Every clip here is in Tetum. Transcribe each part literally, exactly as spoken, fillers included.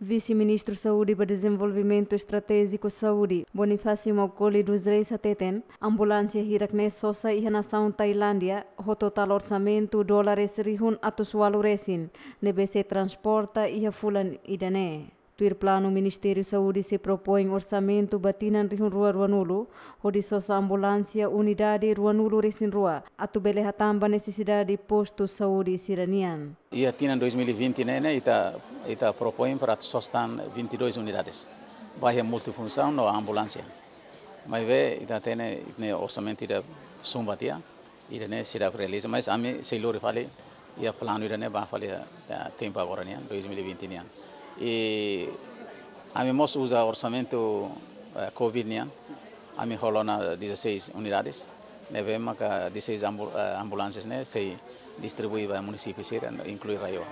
Vise-Ministru Saúde ba Dezenvolvimentu Estratéjiku Saúde, Bonifácio Maukoli dos Reis hateten, ambulánsia hirak ne'e sosa iha nasaun Tailándia, ho totál orsamentu dólares rihun atus ualu resin, ne'ebé sei transporta iha fulan ida-ne'e. Tuir planu, Ministériu Saúde sei propoin orsamentu ba tinan rihun rua ruanulu, hodi sosa ambulánsia unidade ruanulu resin rua, atu bele hatán ba nesesidade postu saúde sira-nian. Iha tinan dois mil e vinte ne'e, ne'e ita, ita propoin para atu sosa tan vinte e dois unidades. Ba iha multifunsaun no ambulánsia. Maibé ita hatene, ne'e orsamentu ida sumba tiha, ida-ne'e seidauk realiza, mas ami sei lori fali iha planu ida-ne'e ba fali iha, iha tempu agora nian, dois mil e vinte nian. I ami mós uza orsamentu, eh, covid nian, ami hola ona dezasseis unidades, ne'ebé maka dezasseis ambu-, eh, ambulánsias ne'e sei distribui ba munisípiu sira, inklui RAEOA.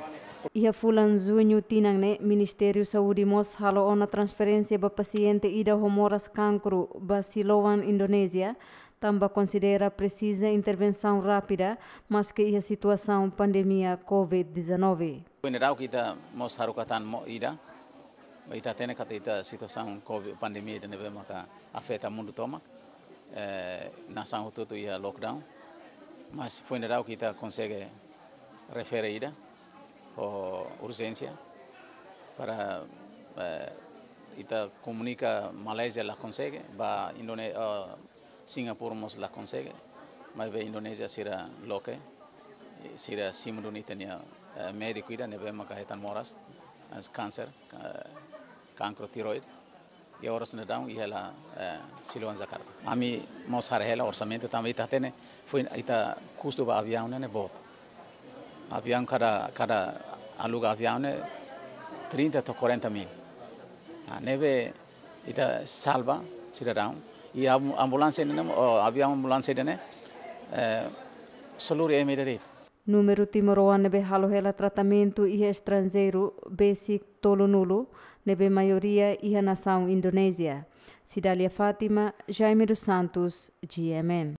Iha fulan Juñu tinan ne'e, Ministériu Saúde mós halo ona transferénsia ba pasiente ida ho moras kankru ba Siloam, Indonézia, tanba konsidera presiza intervensaun rápida, maske iha situasaun pandemia covid dezanove. Foin daudauk ita mós haruka tan mós ida, ita hatene katak iha situasaun covid pandemia ida ne'ebé maka afeta mundu tomak, eh, nasaun hotu-hotu iha lockdown, mas foin daudauk ita konsege refere ida ho urjénsia para, eh, ita komunika Malázia la konsege, ba Indone-, eh, Singapura mós la konsege, maibé Indonézia sira loke, eh, sira simu duni ita-nia, eh, médiku ida ne'ebé maka hetan moras, eh, kánser, eh, kankru tireoide. Iha oras ne'e daudaun iha hela, eh, Siloam Jakarta. Ami mós haree hela orsamentu tanba ita hatene foin ita kustu ba aviaun ne'e, ne'e boot. Aviaun kada, kada aluga aviaun ne'e trinta to'o quarenta mil. Ah, ne'ebé ita salva sidadaun. I am-, ambulánsia ne'e, o aviaun ambulánsia ne'e, eh, só lori ema ida de'it. Númeru timoroan ne'ebé halo hela tratamentu iha estranjeiru besik tolunulu, ne'ebé maioria iha nasaun Indonézia. Cidália Fátima, Jaime dos Santos, G M N.